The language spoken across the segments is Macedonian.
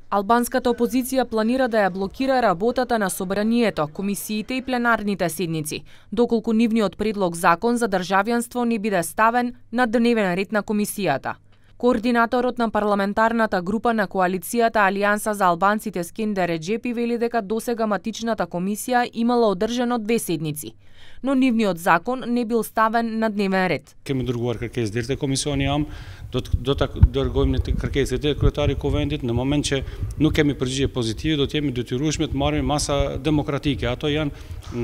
Албанската опозиција планира да ја блокира работата на собранието, комисиите и пленарните седници, доколку нивниот предлог закон за државјанство не биде ставен на дневен ред на комисијата. Координаторот на парламентарната група на коалицијата Алијанса за албанците Скендер Реџепи вели дека досега матичната комисија имала одржано 2 седници, но нивниот закон не бил ставен на дневен ред. Кemi dërguar kërkesë deri te komisioni jam, do ta dërgojmë në kërkesë te kryetari i kuvendit në moment që nuk kemi përgjigje pozitive, do të jemi detyrueshme të marrim masa demokratike. Ato janë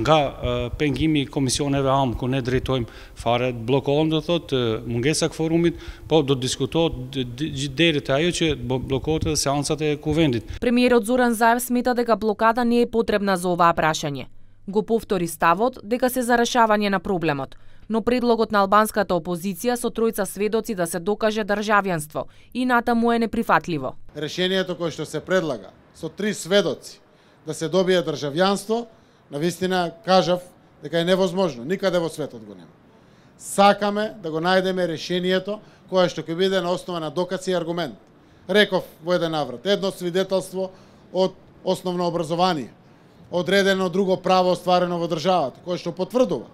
nga pengimi i komisioneve am ku ne drejtojmë fare, bllokohen do thotë mungesa e kvorumit, po do të diskutohet deri te ajo që bllokohet edhe seancat e kuvendit. Премиерот Зоран Заев смета дека блокада не е потребна за оваа прашање. Го повтори ставот дека се за решавање на проблемот, но предлогот на албанската опозиција со тројца сведоци да се докаже државјанство и натаму е неприфатливо. Решението кое што се предлага со 3 сведоци да се добие државјанство, навистина кажав дека е невозможно, никаде во светот го нема. Сакаме да го најдеме решението кое што ќе биде на основа на докази и аргумент. Реков во еден наврат, едно свидетелство од основно образование, одредено друго право остварено во државата, кое што потврдува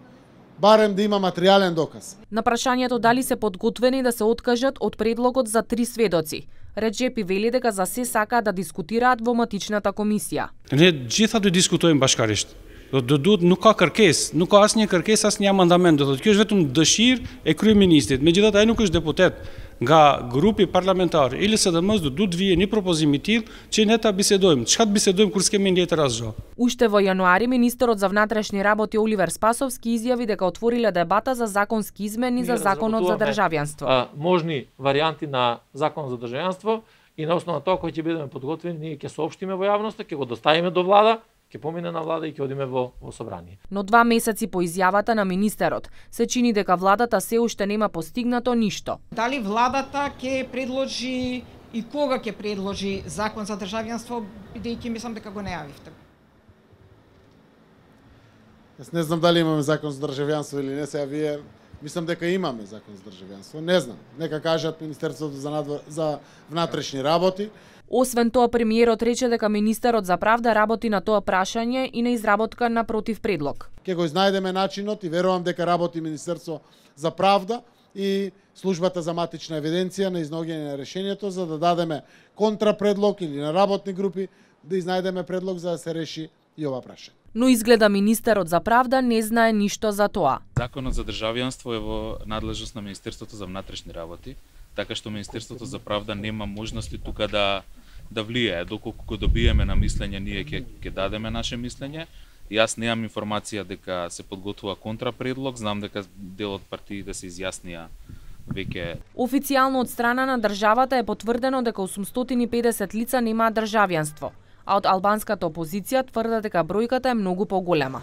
барем да има материјален доказ. На прашањето дали се подготвени да се откажат од предлогот за 3 сведоци, Реџепи вели дека за се сакаат да дискутираат во матичната комисија. Ne gjitha do diskutojmë bashkarisht. Do duhet nuk ka kërkesë, nuk ka asnjë kërkesë, asnjë amandament, do thotë kjo është vetëm dëshirë e kryeministit. Megjithatë ai nuk është deputet. Nga grupi parlamentar i LSDM-s do duhet vije një propozim i tillë që ne ta bisedojmë. Çka të bisedojmë kur s'kemi letër asgjë. Уште во јануари министерот за внатрешни работи Оливер Спасовски изјави дека отвориле дебата за законски измени за законот за државјанство. Можни варијанти на закон за државјанство и на основа тоа кој ќе бидеме подготвени, ние ќе соопштиме во јавноста, ќе го доставиме до влада, ќе помине на влада и ќе одиме во собрание. Но 2 месеци по изјавата на министерот, се чини дека владата се уште нема постигнато ништо. Дали владата ќе предложи и кога ќе предложи закон за државјанство, бидејќи мислам дека го најавивте? Јас не знам дали имаме закон за државјанство или не, сега вие мислам дека имаме закон за државјанство. Не знам, нека кажат Министерството за внатрешни работи. Освен тоа, премиерот рече дека министерот за правда работи на тоа прашање и на изработка на против предлог. Ќе го изнајдеме начинот и верувам дека работи Министерство за правда и службата за матична евиденција на изнаоѓање на решението за да дадеме контрапредлог или на работни групи да изнајдеме предлог за да се реши и ова прашање. Но изгледа министерот за правда не знае ништо за тоа. Законот за државјанство е во надлежност на Министерството за внатрешни работи, така што Министерството за правда нема можности тука да влијае. Доколку го добиеме на мислење, ние ќе дадеме наше мислење. Јас немам информација дека се подготвува контрапредлог, знам дека дел од партиите се изјаснија веќе. Официјално од страна на државата е потврдено дека 850 лица немаат државјанство, а од албанската опозиција тврдат дека бројката е многу поголема.